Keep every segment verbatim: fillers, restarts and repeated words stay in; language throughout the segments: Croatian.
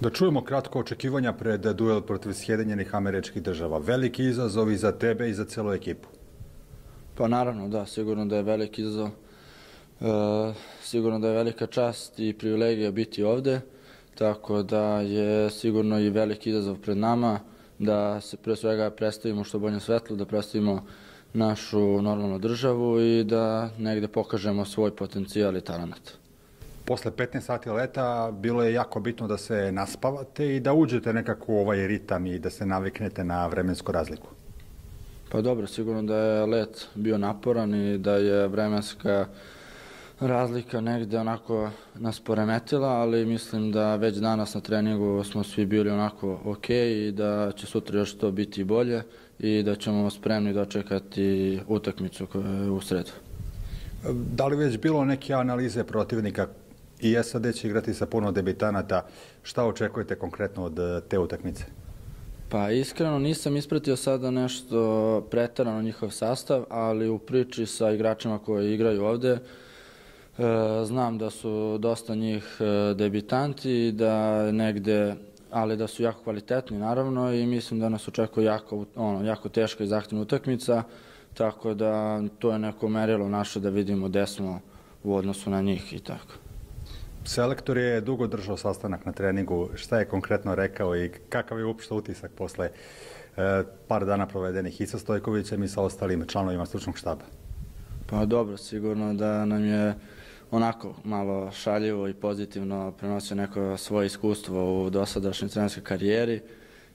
Da čujemo kratko očekivanja pred duel protiv Sjedinjenih Američkih Država. Veliki izazov i za tebe i za celu ekipu. Pa naravno, da, sigurno da je veliki izazov. E, sigurno da je velika čast i privilegija biti ovde, tako da je sigurno i veliki izazov pred nama, da se pre svega predstavimo što bolje svetlo, da predstavimo našu normalnu državu i da negde pokažemo svoj potencijal i talent. Posle petnaest sati leta bilo je jako bitno da se naspavate i da uđete nekako u ovaj ritam i da se naviknete na vremensku razliku. Pa dobro, sigurno da je let bio naporan i da je vremenska razlika negde onako nas poremetila, ali mislim da već danas na treningu smo svi bili onako ok i da će sutra još to biti bolje i da ćemo spremni dočekati utakmicu u sredu. Da li već bilo neke analize protivnika? I S A D će igrati sa puno debitanata. Šta očekujete konkretno od te utakmice? Pa iskreno nisam ispratio sada nešto preterano njihov sastav, ali u priči sa igračima koji igraju ovde znam da su dosta njih debitanti, da negde, ali da su jako kvalitetni naravno i mislim da nas očekuje jako, ono, jako teška i zahtevna utakmica, tako da to je neko merilo naše da vidimo gde smo u odnosu na njih i tako. Selektor je dugo držao sastanak na treningu. Šta je konkretno rekao i kakav je uopšte utisak posle e, par dana provedenih i sa Stojkovićem i sa ostalim članovima stručnog štaba? Pa dobro, sigurno da nam je onako malo šaljivo i pozitivno prenosio neko svoje iskustvo u dosadašnjoj trenerskoj karijeri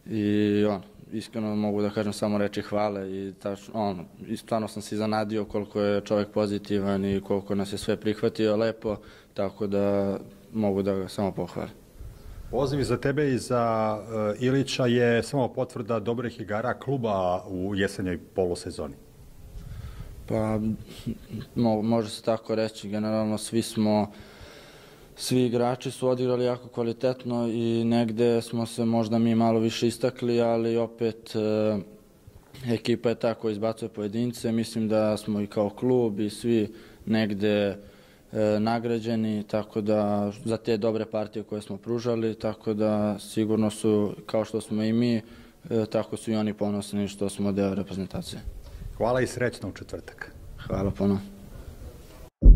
i on, iskreno mogu da kažem samo reči hvale i tačno, on, stvarno sam se iznenadio koliko je čovjek pozitivan i koliko nas je sve prihvatio lepo, tako da mogu da ga samo pohvalim. Poziv za tebe i za uh, Ilića je samo potvrda dobrih igara kluba u jesenjoj polusezoni. Pa, mo, može se tako reći, generalno svi smo, svi igrači su odigrali jako kvalitetno i negde smo se možda mi malo više istakli, ali opet e, ekipa je ta koja izbacuje pojedince, mislim da smo i kao klub i svi negde e, nagrađeni, tako da za te dobre partije koje smo pružali, tako da sigurno su, kao što smo i mi, e, tako su i oni ponosni što smo deo reprezentacije. Hvala i srećno u četvrtak. Hvala puno. We'll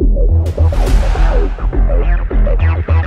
be right back.